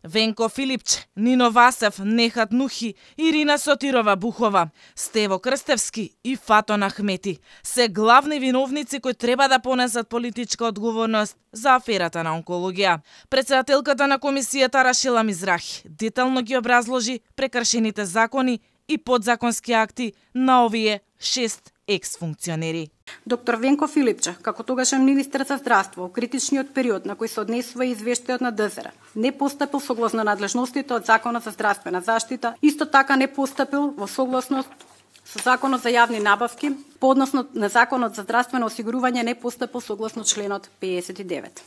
Венко Филипче, Нино Васев, Нехат Нухи, Ирина Сотирова Бухова, Стево Крстевски и Фатон Ахмети се главни виновници кои треба да понесат политичка одговорност за аферата на онкологија. Председателката на комисијата Рашила Мизрахи детално ги образложи прекршените закони и подзаконски акти на овие 6 екс-функционери. Доктор Венко Филипче, како тогашен министер за здравство, во критичниот период на кој се однесува извештајот на ДЗР, не постапил согласно надлежностите од Законот за здравствена заштита, исто така не постапил во согласност со Законот за јавни набавки, по однос на Законот за здравствено осигурување не постапил согласно членот 59.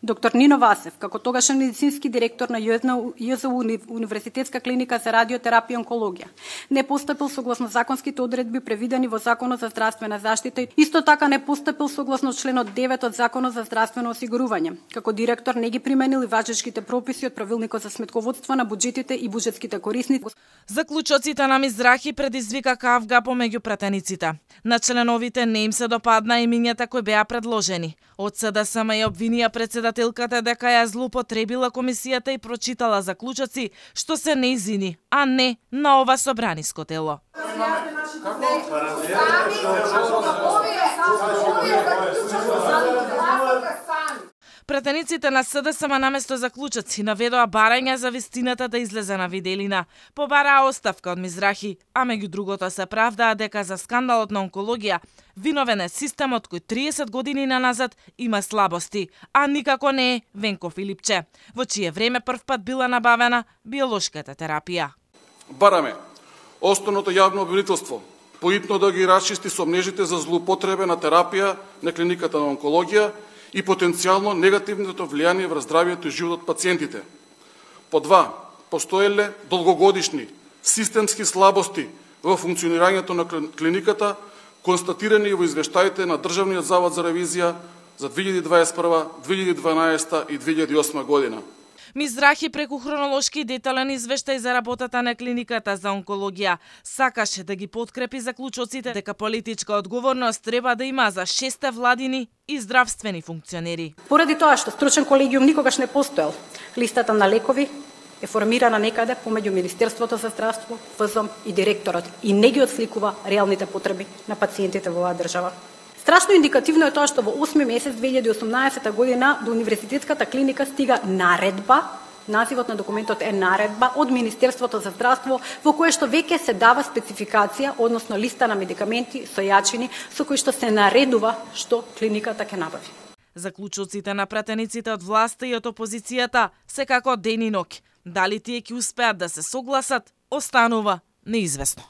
Доктор Нино Васев, како тогашен медицински директор на ЈЗУ Универзитетска клиника за радиотерапија и онкологија, не постапил согласно законските одредби превидени во Законот за здравствена заштита, исто така не постапил согласно членот 9 од Законот за здравствено осигурување. Како директор не ги применил и важечките прописи од Правилникот за сметководство на буџетите и буџетските корисници. Заклучоците на Мизрахи предизвика кавга помеѓу пратениците. На членовите не им се допадна имињата кои беа предложени. Од СДСМ ја обвинија председателката дека ја злоупотребила комисијата и прочитала заклучоци што се нејзини, а не на ова собраниско тело. Пратениците на СДСМ наместо заклучоци наведоа барања за вистината да излезе на виделина. Побараа оставка од Мизрахи, а меѓу другото се правдаа дека за скандалот на онкологија виновен е системот кој 30 години наназад има слабости, а никако не е Венко Филипче, во чие време првпат била набавена биолошката терапија. Бараме основното јавно обвинителство поитно да ги расчисти сомнежите за злоупотреба на терапија на клиниката на онкологија и потенцијално негативното влијание врз здравието и животот пациентите. По два, постоеле долгогодишни системски слабости во функционирањето на клиниката, констатирани во извештаите на Државниот завод за ревизија за 2021, 2012 и 2008 година. Мизрахи преку хронолошки и детален извештај за работата на клиниката за онкологија сакаше да ги подкрепи заклучоците дека политичка одговорност треба да има за 6 владини и здравствени функционери. Поради тоа што стручен колегиум никогаш не постоел, листата на лекови е формирана некаде помеѓу Министерството за здравство, ФЗОМ и директорот и не ги отсликува реалните потреби на пациентите во оваа држава. Страшно индикативно е тоа што во 8 месец 2018 година до Универзитетската клиника стига наредба, називот на документот е наредба од Министерството за здравство, во кое што веќе се дава спецификација, односно листа на медикаменти, сојачини, со кои што се наредува што клиниката ќе набави. Заклучоците на пратениците од власта и од опозицијата се како ден и ноќ. Дали тие ќе успеат да се согласат, останува неизвестно.